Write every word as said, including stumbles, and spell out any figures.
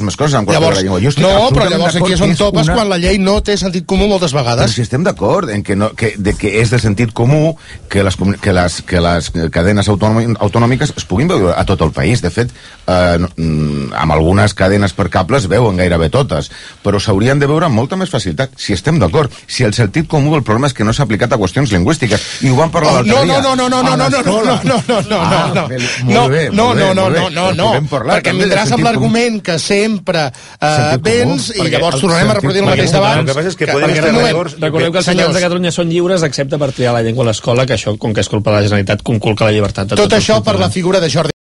moltíssimes coses en qualsevol llengua. No, però llavors aquí és on topes quan la llei no té sentit comú moltes vegades. Però si estem d'acord en que, no, que, de que és de sentit comú que les, que les, que les cadenes autonòmiques es puguin veure a tot el país. De fet, eh, amb algunes cadenes per cable es veuen gairebé totes, però s'haurien de veure amb molta més facilitat, si estem d'acord. Si el sentit comú, el problema és que no s'ha aplicat a qüestions lingüístiques, i ho vam parlar l'altre dia. No, no, no, no, no, no, no, no, no, no, no, no, no, no, no, no, no, no, no, perquè em vindràs amb l'argument que sempre vens i llavors tornarem a reproduir el mateix d'abans. El que passa és que podem estar d'acord. Recordeu que els ciutadans de Catalunya són lliures excepte per triar la llengua a l'escola, que això, com que és culpa de la Generalitat, conculca la llibertat de tots. Tot això per la figura de Jordi